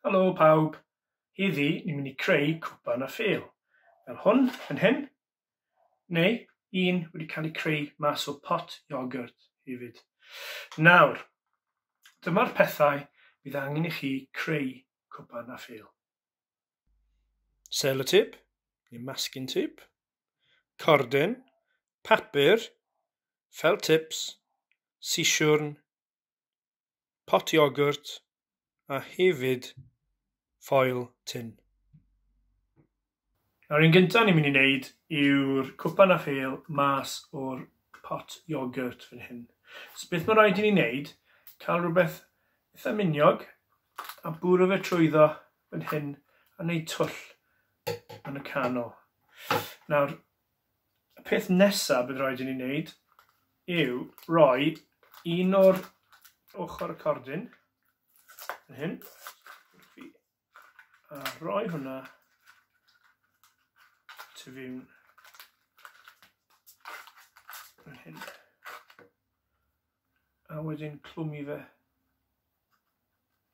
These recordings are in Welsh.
Helo pawb! Heddi ni'n mynd i creu cwpan a phêl. Fel hwn yn hyn, neu un wedi cael ei creu mas o pot iogwrt hefyd. Nawr, dyma'r pethau bydd angen i chi creu cwpan a phêl. Sellotape, neu masking tape, cordyn, papur, felt tips, sisiwrn, pot iogwrt a hefyd ffoil tin. Nawr un gyntaf ni'n mynd i wneud yw'r cwpan a phêl mas o'r pot iogwrt fan hyn. So beth mae rhaid i ni wneud, cael rhywbeth eitha miniog a bwrw fe trwyddo fan hyn a wneud twll yn y canol. Nawr, y peth nesaf bydd rhaid i ni wneud yw rhoi un o'r ochr y cordyn fan hyn a rhoi hwnna tu fewn fan hyn a wedyn clwmu fe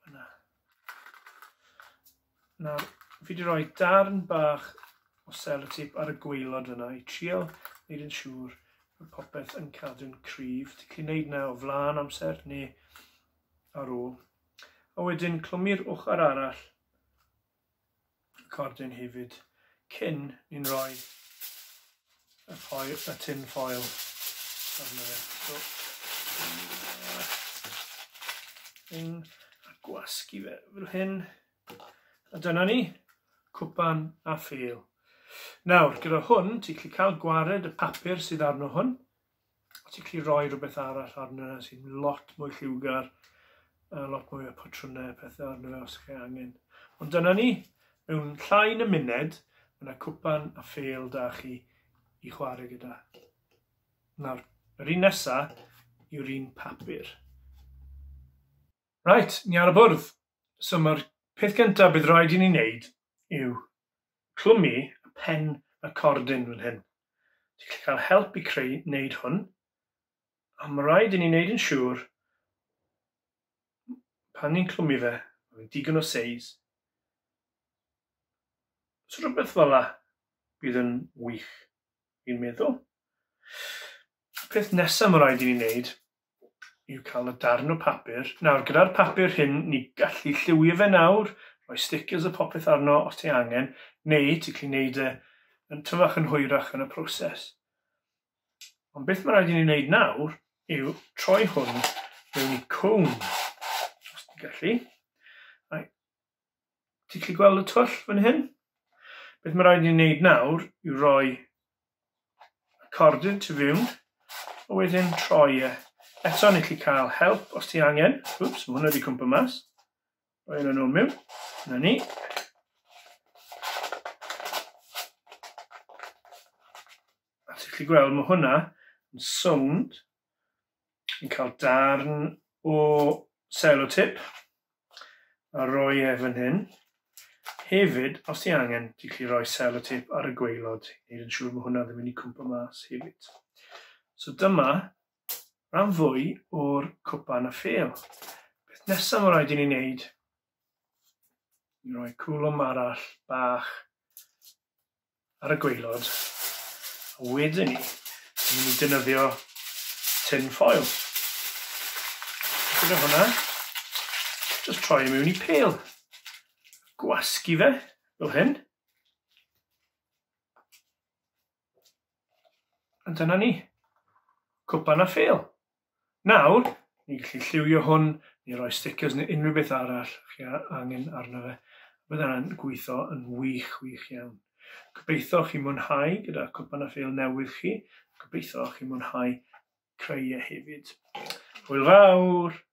yna. Nawr, fi wedi rhoi darn bach o sellotape ar y gwaelod fyna i trio wneud yn siŵr bod popeth yn cadw'n cryf. Ti'n gallu gwneud yna o flaen amser neu ar ôl. A wedyn clwmu'r ochr arall y cordyn hefyd cyn ni'n rhoi y, foil, y tin foil arno fe. So, un, a gwasgu fe fel hyn. A dyna ni, cwpan a phêl. Nawr, gyda hwn, ti'n gallu cael gwared y papur sydd arno hwn, a ti'n gallu rhoi rhywbeth arall arno fe sy'n lot mwy lliwgar, a lot mwy o patrymau a pethau arno fe os chi angen. Ond dyna ni, mewn llai na munud, mae yna cwpan a phêl da chi i chwarae gyda. Nawr, yr un nesa yw'r un papur. Right, ni ar y bwrdd. So mae'r peth gyntaf bydd rhaid i ni wneud yw clwmu y pen y cordyn fan hyn. Ti'n gallu cael help i creu wneud hwn, a mae rhaid i ni wneud yn siŵr pan ni'n clwmu fe, mae'n digon o seis. So rhywbeth fel la bydd yn wych, fi'n meddwl. Y peth nesaf mae rhaid i ni wneud yw cael y darn o papur. Nawr, gyda'r papur hyn, ni gallu lliwio fe nawr, rhoi stickers a popeth arno os ti angen, neu ti'n gallu gwneud e yn tyfach yn hwyrach yn y proses. Ond beth mae rhaid i ni wneud nawr yw troi hwn mewn i cwn, os ti'n gallu. Right. Ti'n gallu gweld y twll fan hyn? Beth mae rhaid i ni wneud nawr yw rhoi y cordyn tu fewn, a wedyn troi e. Eto, ni'n gallu cael help os ti angen. Wps, mae hwnna wedi cwmpa mas. Rhoi hwnna nôl mewn. Na ni. A ti'n gallu gweld, mae hwnna yn sownd. Ni'n cael darn o sellotape a roi e fan hyn. Hefyd, os ti angen, ti'n gallu rhoi sellotape ar y gwaelod i wneud yn siŵr mae hwnna ddim yn mynd i cwmpa mas hefyd. So dyma rhan fwy o'r cwpan a phêl. Beth nesaf mae rhaid i ni wneud i roi cwlwm arall bach ar y gwaelod, a wedyn ni, ni'n mynd i defnyddio tin foil. Gyda hwnna, just troi e mewn i pêl. Gwasgu fe, fel hyn. A dyna ni. Cwpan a phêl. Nawr, ni'n gallu lliwio hwn, neu roi stickers neu unrhyw beth arall chi angen arno fe. Bydd hwnna'n gweithio yn wych, wych iawn. Gobeithio chi mwynhau gyda cwpan a phêl newydd chi. Gobeithio chi mwynhau creu e hefyd. Hwyl fawr!